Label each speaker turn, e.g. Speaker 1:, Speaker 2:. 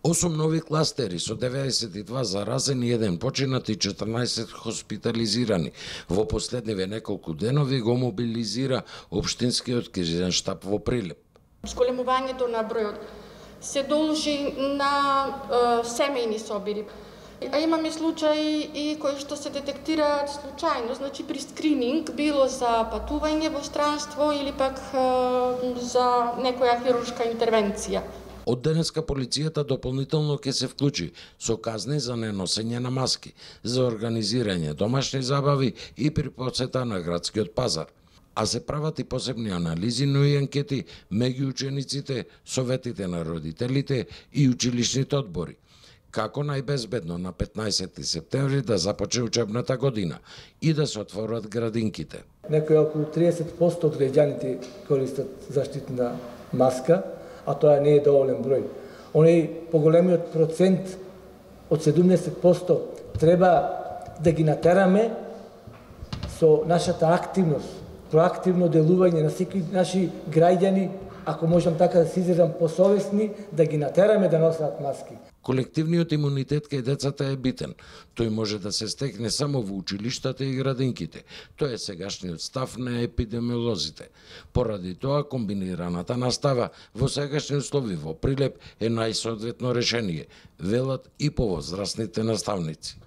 Speaker 1: 8 нови кластери со 92 заразени, 1 починат и 14 хоспитализирани. Во последниве неколку денови го мобилизира општинскиот кризен штаб во Прилеп.
Speaker 2: Зголемувањето на бројот се должи на семејни собири. А имаме случаи и кои што се детектираат случајно, значи при скрининг, било за патување во странство или пак за некоја хируршка интервенција.
Speaker 1: Од денеска полицијата дополнително ќе се вклучи со казни за неносење на маски, за организирање домашни забави и при посета на градскиот пазар. А се прават и посебни анализи, но и анкети меѓу учениците, советите на родителите и училишните одбори. Како најбезбедно на 15 септември да започне учебната година и да се отворат градинките.
Speaker 3: Некои околу 30% од граѓаните користат заштитна маска, а тоа не е доволен број. Оној поголемиот процент од 70% треба да ги натераме со нашата активност, проактивно делување на секои наши граѓани, ако можам така да се изразам, посовесни, да ги натераме да носат маски.
Speaker 1: Колективниот имунитет кај децата е битен. Тој може да се стекне само во училиштата и градинките. Тоа е сегашниот став на епидемиолозите. Поради тоа, комбинираната настава во сегашни услови во Прилеп е најсоодветно решение, велат и повозрастните наставници.